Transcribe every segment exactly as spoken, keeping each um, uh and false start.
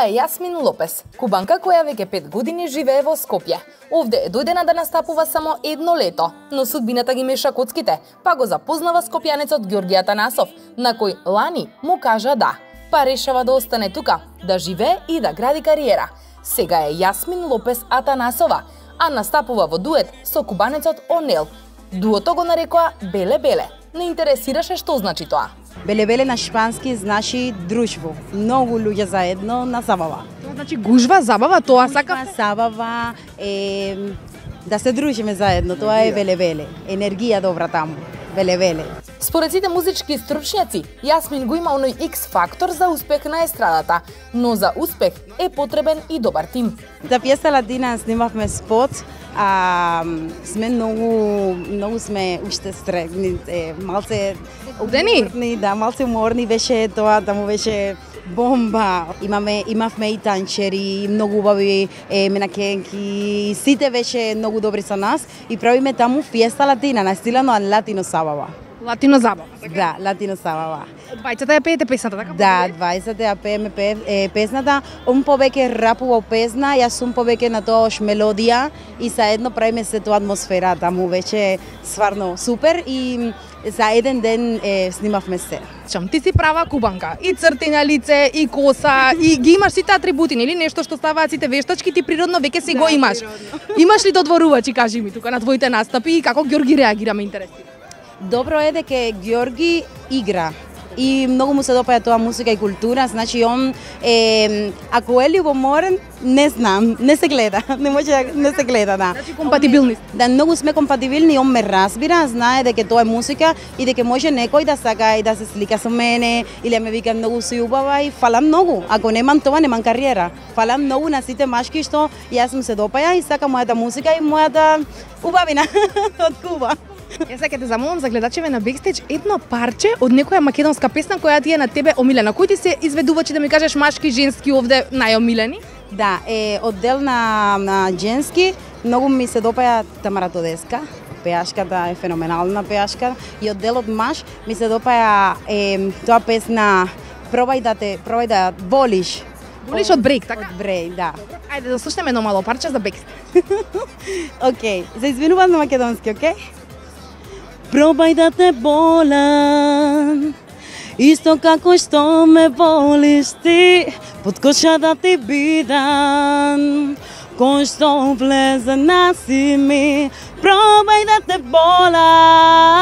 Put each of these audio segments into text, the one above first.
е Јасмин Лопес, кубанка која веќе пет години живее во Скопје. Овде е дојдена да настапува само едно лето, но судбината ги меша коцките, па го запознава скопјанецот Ѓорги Атанасов, на кој лани му кажа да. Па решава да остане тука, да живее и да гради кариера. Сега е Јасмин Лопес Атанасова, а настапува во дует со кубанецот Онел. Дуото го нарекоа Беле-Беле. Не интересираше што значи тоа. Беле-беле на шпански значи дружбо. Многу луѓе заедно на забава. Тоа значи гужва, забава, тоа сака? Забава е да се дружиме заедно, тоа е беле-беле. Енергија добра таму. Беле-беле. Според сите музички стручњаци, Јасмин го има оној X фактор за успех на естрадата, но за успех е потребен и добар тим. За пиеса Ладина снимавме спот, а сме многу многу сме уште стрегни, е, малце уморни, да, малце уморни беше тоа, да му беше бомба. Имаме имавме и танчери, многу убави е, менакенки, сите беше многу добри со нас и правиме таму фиеста латина на стила на латино забава. Латино забава. Да, латино забава. Двајцата ја пеете песната, така? Да, двајцата ја пееме пе, песната. Он повеќе рапува песна, јас сум повеќе на тоаш мелодија и заедно правиме се тоа атмосфера, таму беше стварно супер и за еден ден е, снимавме се. Чам, ти си права кубанка, и црти на лице, и коса, и ги имаш сите атрибути, нели нешто што ставаат сите вештачки, ти природно веќе си да, го имаш. Природно. Имаш ли додворувачи, кажи ми тука на твоите настапи и како Ѓорги реагира, ме интересира. Добро е дека Ѓорги игра и многу му се допаѓа тоа музика и култура, значи он е, ако е љубоморен, не знам, не се гледа, не може не се гледа, да. Значи компатибилни. Да, многу сме компатибилни, он ме разбира, знае дека тоа е музика и дека може некој да сака и да се слика со мене или ме вика многу си убава и фала многу. Ако немам тоа, немам кариера. Фала многу на сите машки што јас му се допаја и сака мојата музика и мојата убавина од Куба. Јас сега те замолам за гледачеве на Бекстејдж едно парче од некоја македонска песна која ти е на тебе омилена. Кои ти се изведувачи да ми кажеш машки, женски овде најомилени? Да, е оддел на, на женски, многу ми се допаја Тамара Тодеска. Пеашката е феноменална пеашка и оддел од маж ми се допаја е, тоа песна Пробај да те, пробај да волиш. Волиш од Брейк, така? Од Брейк, да. Ајде да слушнеме едно мало парче за Бекстејдж. Океј, се извинувам на македонски, океј? Пробај да те волам, исто како што ме волиш ти, под коша да ти бидам, кој што влезе наси ми. Пробај да те волам,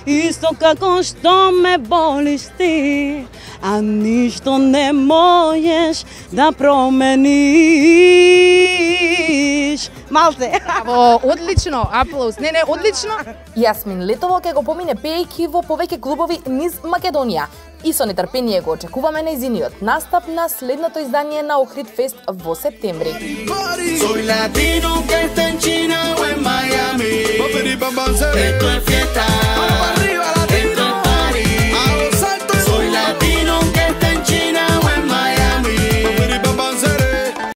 исто како што ме волиш ти, а ништо не можеш да промениш. Малце. Браво, одлично, аплауз. Не, не, одлично. Јасмин летово ќе го помине пеејќи во повеќе клубови низ Македонија. И со нетрпение го очекуваме нејзиниот настап на следното издание на Охрид Фест во септември. Soy latino que está en China o en Miami. Esto es fiesta.